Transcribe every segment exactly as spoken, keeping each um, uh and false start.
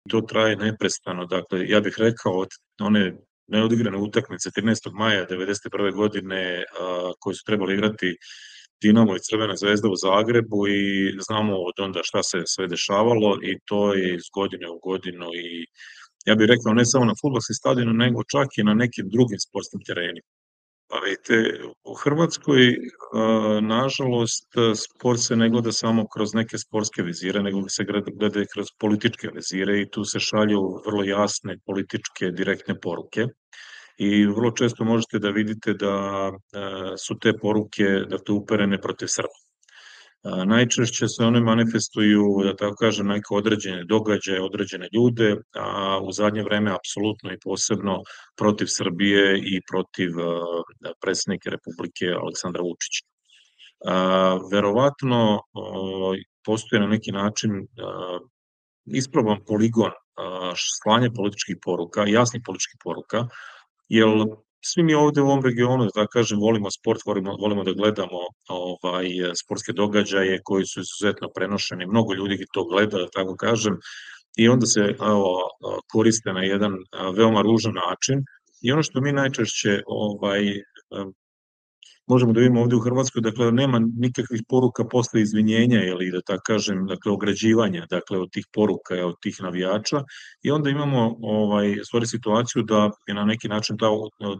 To traje neprestano, dakle, ja bih rekao od one neodigrane utakmice trinaestog maja devedeset prve godine, a, koje su trebale igrati Dinamo i Crvena Zvezda u Zagrebu i znamo od onda šta se sve dešavalo i to je iz godine u godinu i ja bih rekao ne samo na fudbalskim stadionima, nego čak i na nekim drugim sportskim terenima. Pa vidite, u Hrvatskoj, a, nažalost, sport se ne gleda samo kroz neke sportske vizire, nego se gleda i kroz političke vizire i tu se šalju vrlo jasne političke direktne poruke i vrlo često možete da vidite da, a, su te poruke, dakle, uperene protiv Srba. A, najčešće se one manifestuju, da tako kažem, na neke određene događaje, određene ljude, a u zadnje vreme apsolutno i posebno protiv Srbije i protiv, a, predsednika Republike Aleksandra Vučića. A, verovatno, ovaj, postoji na neki način, a, isproban poligon, a, slanja političkih poruka, jasnih političkih poruka, jel svi mi ovde u ovom regionu, da tako kažem, volimo sport, volimo volimo da gledamo, ovaj, sportske događaje koji su izuzetno prenošeni, mnogo ljudi to gleda, da tako kažem, i onda se, evo, koriste na jedan veoma ružan način i ono što mi najčešće, ovaj, možemo da vidimo ovde u Hrvatskoj, dakle, nema nikakvih poruka posle izvinjenja ili da tako kažem, dakle, ograđivanja, dakle, od tih poruka i od tih navijača i onda imamo, ovaj, u stvari situaciju da je na neki način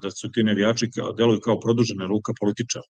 da su ti navijači deluju kao produžena ruka političara.